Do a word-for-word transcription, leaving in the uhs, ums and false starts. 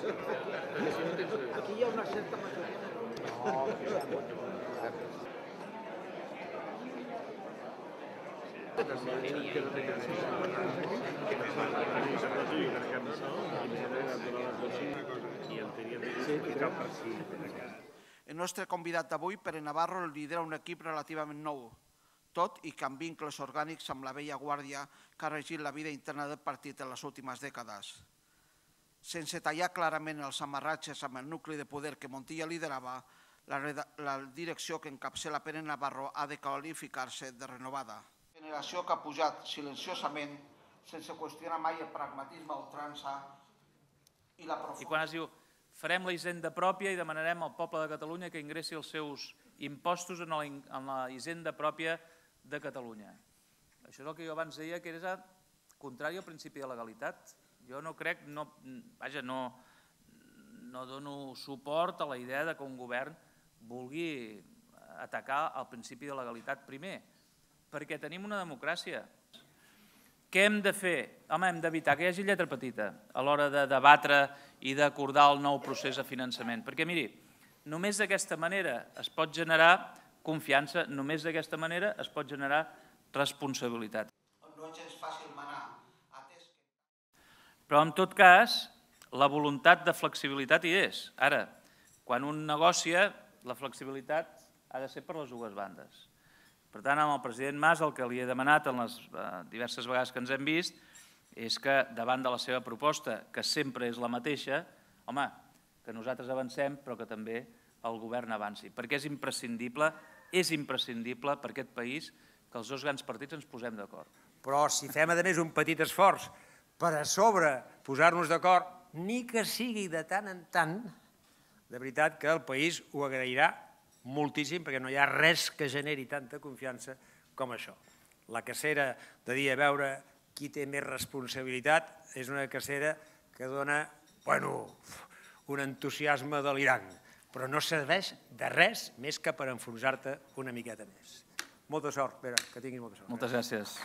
Aquí hi ha una certa majoria. El nostre convidat d'avui, Pere Navarro, lidera un equip relativament nou, tot i que amb vincles orgànics amb la vella guàrdia que ha regit la vida interna del partit en les últimes dècades. Sense tallar clarament els amarratges amb el nucli de poder que Montilla liderava, la direcció que encapçala Pere Navarro ha de qualificar-se de renovada. Generació que ha pujat silenciosament, sense qüestionar mai el pragmatisme a ultrança i la profunditat. I quan es diu farem la hisenda pròpia i demanarem al poble de Catalunya que ingressi els seus impostos en la hisenda pròpia de Catalunya. Això és el que jo abans deia que era contrari al principi de legalitat. Jo no crec, vaja, no dono suport a la idea que un govern vulgui atacar el principi de legalitat primer, perquè tenim una democràcia. Què hem de fer? Home, hem d'evitar que hi hagi lletra petita a l'hora de debatre i d'acordar el nou procés de finançament. Perquè, miri, només d'aquesta manera es pot generar confiança, només d'aquesta manera es pot generar responsabilitat. No és gens fàcil manar. Però, en tot cas, la voluntat de flexibilitat hi és. Ara, quan un negocia, la flexibilitat ha de ser per les dues bandes. Per tant, amb el president Mas el que li he demanat en les diverses vegades que ens hem vist és que davant de la seva proposta, que sempre és la mateixa, home, que nosaltres avancem però que també el govern avanci, perquè és imprescindible, és imprescindible per aquest país que els dos grans partits ens posem d'acord. Però si fem, a més, un petit esforç per a sobre posar-nos d'acord, ni que sigui de tant en tant, de veritat que el país ho agrairà moltíssim, perquè no hi ha res que generi tanta confiança com això. La cacera de dir a veure qui té més responsabilitat és una cacera que dona, bueno, un entusiasme delirant, però no serveix de res més que per enfonsar-te una miqueta més. Molta sort, Pere, que tinguis molta sort. Moltes gràcies.